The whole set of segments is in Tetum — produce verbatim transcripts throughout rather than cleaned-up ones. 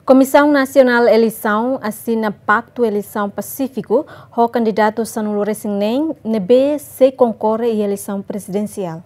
Komisaun Nasionál Eleisaun asina paktu eleisaun pasífiku ho kandidatu sanulu-resin-neen ne'ebé sei konkorre iha eleisaun prezidensiál.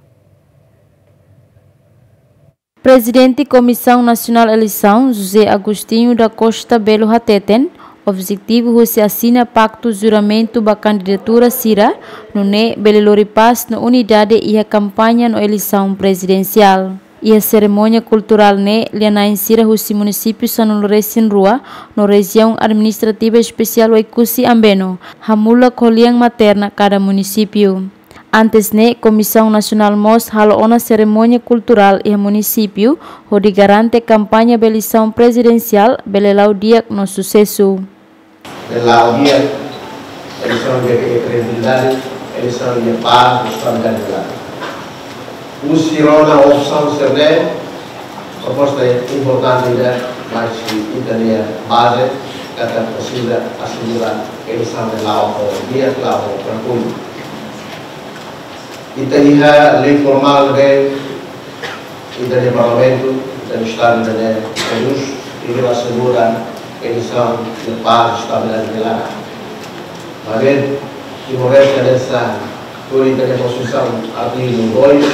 Prezidente Komisaun Nasionál Eleisaun, José Agostinho da Costa Belo hateten, objetivu husi asina paktu juramentu ba kandidatura sira, nune'e bele lori pás no unidade iha kampaña no eleisaun prezidensiál. Iha serimónia kulturál ne'e, lia-na'in sira husi munisípiu sanulu-resin-rua no Rejiaun Administrativa Espesiál Oekusi Ambeno, hamulak ho lian materna kada munisípiu. Antes ne'e, Komisaun Nasionál mós halo ona serimónia kulturál iha munisípiu, hodi garante kampaña ba eleisaun prezidensiál bele la'o di'ak no susesu. Bele la'o di'ak, eleisaun iha kredibilidade, eleisaun iha pás, estabilidade. Husi rona opsaun sira-ne'e, proposta importante ida, mas ita-nia baze, katak presiza asegura eleisaun ne'e la'o ho di'ak, la'o ho trankilu. Ita iha lei formál ne'ebé ita-nia Parlamentu, ita-nia Estadu ne'e produz, i asegura eleisaun iha pás, estabilidade iha laran. Maibé, Timor-Leste hanesan tuir ita-nia Konstituisaun, artigu dois,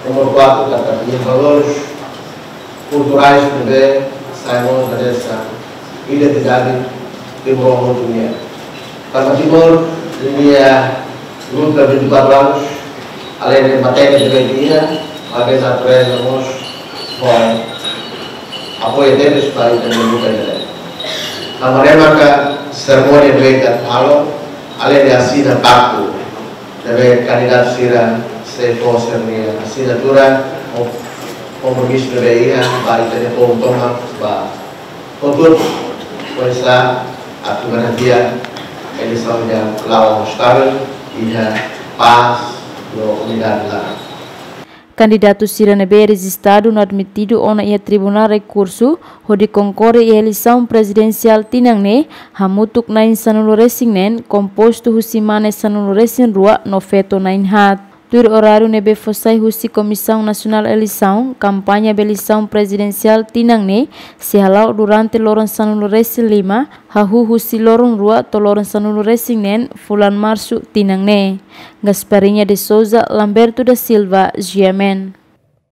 númeru quatro, katak iha valores kulturais ne'ebé sai mós hanesan identidade Timor hotu nian. Tanba Timor ninia luta vinte e quatro anos, além de matéria de dia, maibé natureza mós ho apoiu deles para ita-nia luta ne'e. Tanba ne'e maka serimónia ne'ebé ita halo, além de asina paktu, ne'ebé kandidatu sira sei fó sira-nia asinatura, ho kompromisu ne'ebé iha ba ita-nia povu tomak ba hotu-hotu, oinsá atu garantia eleisaun ne'e la'o estavel, iha pás no unidade laran. Kandidatu sira ne'ebé rejistadu no admitidu ona iha Tribunál Rekursu hodi konkorre iha eleisaun prezidensiál tinan ne'e, hamutuk na'in sanulu-resin-neen, kompostu husi mane sanulu-resin-rua no feto na'in-haat. Tuir oráriu ne'ebé fó sai husi Komisaun Nasionál Eleisaun, kampaña ba eleisaun prezidensiál tinan ne'e sei hala'o durante loron sanulu-resin-lima, hahú husi loron rua to'o loron sanulu-resin-neen fulan Marsu tinan ne'e. Gasparinha de Souza, Lamberto da Silva, G M N.